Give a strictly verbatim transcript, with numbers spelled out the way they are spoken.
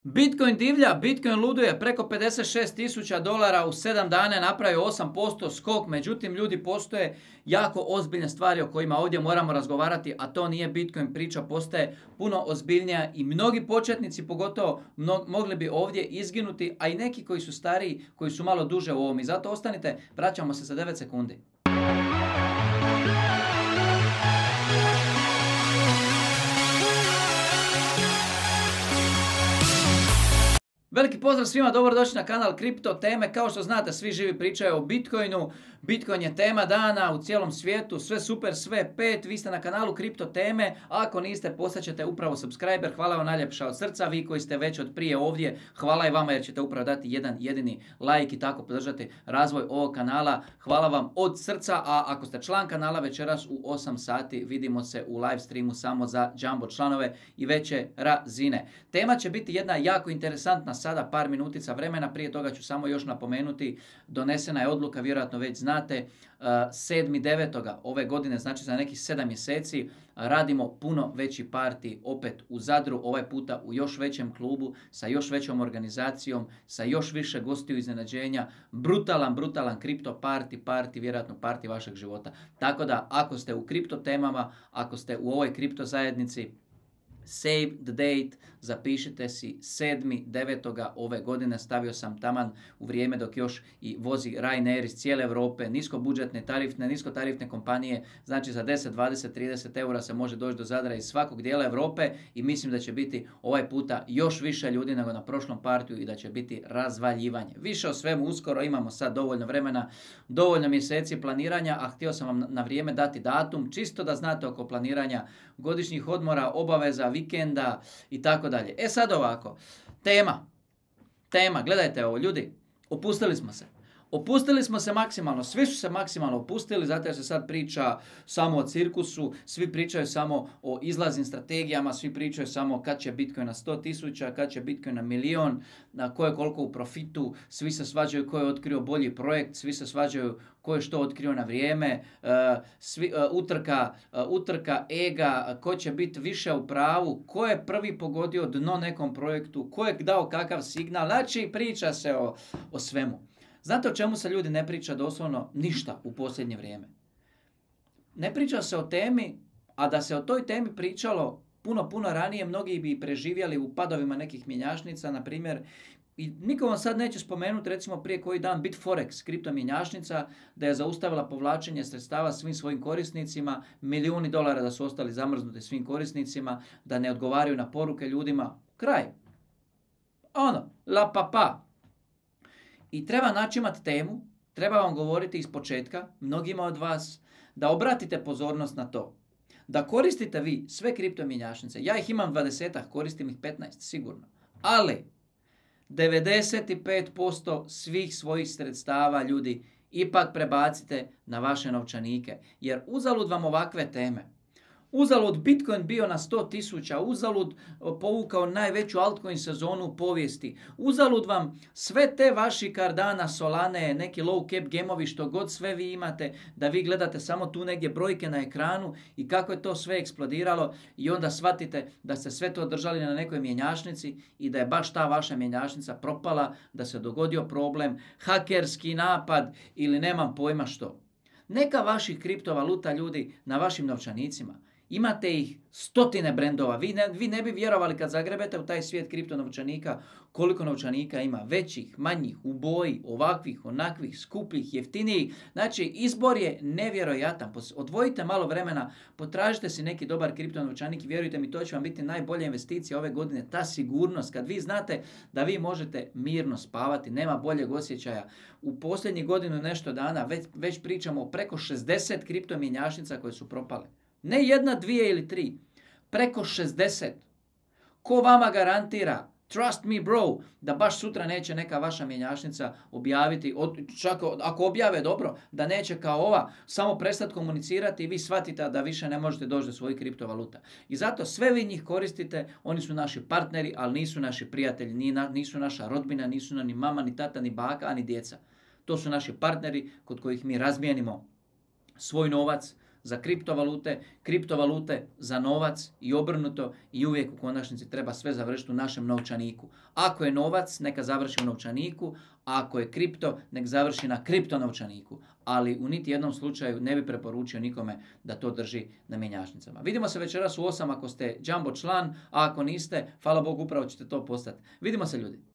Bitcoin divlja, Bitcoin luduje, preko pedeset šest tisuća dolara u sedam dana je napravio osam posto skok, međutim ljudi postoje jako ozbiljne stvari o kojima ovdje moramo razgovarati, a to nije Bitcoin priča, postaje puno ozbiljnija i mnogi početnici pogotovo mnog, mogli bi ovdje izginuti, a i neki koji su stariji, koji su malo duže u ovom. I zato ostanite, vraćamo se za devet sekundi. Veliki pozdrav svima, dobrodošli na kanal Kripto teme. Kao što znate, svi živi pričaju o Bitcoinu. Bitcoin je tema dana u cijelom svijetu, sve super, sve pet. Vi ste na kanalu Kripto teme, a ako niste, postaćete upravo subscriber. Hvala vam najljepša od srca. Vi koji ste već od prije ovdje, hvala i vama jer ćete upravo dati jedan jedini like i tako podržati razvoj ovog kanala. Hvala vam od srca, a ako ste član kanala, večeras u osam sati vidimo se u live streamu samo za jumbo članove i veće razine. Tema će biti jedna jako interesantna. Sada par minutica vremena, prije toga ću samo još napomenuti, donesena je odluka, vjerojatno već znate, sedmi devetog ove godine, znači za nekih sedam mjeseci, radimo puno veći parti opet u Zadru, ovaj puta u još većem klubu, sa još većom organizacijom, sa još više gostiju iznenađenja, brutalan, brutalan kripto parti, parti, vjerojatno parti vašeg života. Tako da, ako ste u kripto temama, ako ste u ovoj kripto zajednici, save the date, zapišite si sedmi devetog ove godine, stavio sam taman u vrijeme dok još i vozi Ryanair iz cijele Europe, niskobudžetne, tarifne, niskotarifne kompanije, znači za deset, dvadeset, trideset eura se može doći do Zadra iz svakog dijela Europe i mislim da će biti ovaj puta još više ljudi nego na prošlom partiju i da će biti razvaljivanje. Više o svemu uskoro, imamo sad dovoljno vremena, dovoljno mjeseci planiranja, a htio sam vam na vrijeme dati datum, čisto da znate oko planiranja godišnjih odmora, obaveza, vikenda i tako dalje. E sad ovako, tema, tema, gledajte ovo ljudi, opustili smo se. Opustili smo se maksimalno, svi su se maksimalno opustili, zato jer se sad priča samo o cirkusu, svi pričaju samo o izlaznim strategijama, svi pričaju samo kad će Bitcoin na sto tisuća, kad će Bitcoin na milion, na ko je koliko u profitu, svi se svađaju ko je otkrio bolji projekt, svi se svađaju ko je što otkrio na vrijeme, uh, svi, uh, utrka, uh, utrka ega, ko će biti više u pravu, ko je prvi pogodio dno nekom projektu, ko je dao kakav signal, znači priča se o, o svemu. Znate o čemu se ljudi ne priča doslovno ništa u posljednje vrijeme? Ne priča se o temi, a da se o toj temi pričalo puno, puno ranije, mnogi bi preživjeli u padovima nekih mjenjačnica, na primjer, i niko vam sad neće spomenuti, recimo prije koji dan Bitforex, kripto mjenjačnica, da je zaustavila povlačenje sredstava svim svojim korisnicima, milijuni dolara da su ostali zamrznuti svim korisnicima, da ne odgovaraju na poruke ljudima. Kraj. Ono, la papa. I treba naći imati temu, treba vam govoriti iz početka, mnogima od vas, da obratite pozornost na to. Da koristite vi sve kripto mjenjačnice. Ja ih imam dvadesetak, koristim ih petnaest, sigurno. Ali, devedeset pet posto svih svojih sredstava, ljudi, ipak prebacite na vaše novčanike. Jer uzalud vam ovakve teme. Uzalud Bitcoin bio na sto tisuća, uzalud povukao najveću altcoin sezonu u povijesti, uzalud vam sve te vaši Cardano, Solane, neki low cap gemovi, što god sve vi imate, da vi gledate samo tu negdje brojke na ekranu i kako je to sve eksplodiralo i onda shvatite da ste sve to držali na nekoj mjenjačnici i da je baš ta vaša mjenjačnica propala, da se dogodio problem, hakerski napad ili nemam pojma što. Neka vaših kriptovaluta, ljudi, na vašim novčanicima. Imate ih stotine brendova. Vi ne, vi ne bi vjerovali kad zagrebete u taj svijet kripto novčanika koliko novčanika ima. Većih, manjih, u boji, ovakvih, onakvih, skupljih, jeftinijih. Znači, izbor je nevjerojatan. Odvojite malo vremena, potražite si neki dobar kripto novčanik i vjerujte mi, to će vam biti najbolja investicija ove godine. Ta sigurnost, kad vi znate da vi možete mirno spavati, nema boljeg osjećaja. U posljednjih godinu nešto dana već, već pričamo o preko šezdeset kripto mjenjačnica koje su propale. Ne jedna, dvije ili tri. Preko šezdeset. Ko vama garantira, trust me bro, da baš sutra neće neka vaša mjenjačnica objaviti, čak ako objave dobro, da neće kao ova samo prestati komunicirati i vi shvatite da više ne možete doći do svojih kriptovaluta. I zato sve vi njih koristite, oni su naši partneri, ali nisu naši prijatelji, nisu naša rodbina, nisu ni mama, ni tata, ni baka, ni djeca. To su naši partneri kod kojih mi razmijenimo svoj novac za kriptovalute, kriptovalute za novac i obrnuto i uvijek u konačnici treba sve završiti u našem novčaniku. Ako je novac, neka završi u novčaniku, a ako je kripto, nek završi na kripto novčaniku. Ali u niti jednom slučaju ne bi preporučio nikome da to drži na mjenjačnicama. Vidimo se večeras u osam ako ste Jumbo član, a ako niste, hvala Bogu, upravo ćete to postati. Vidimo se ljudi.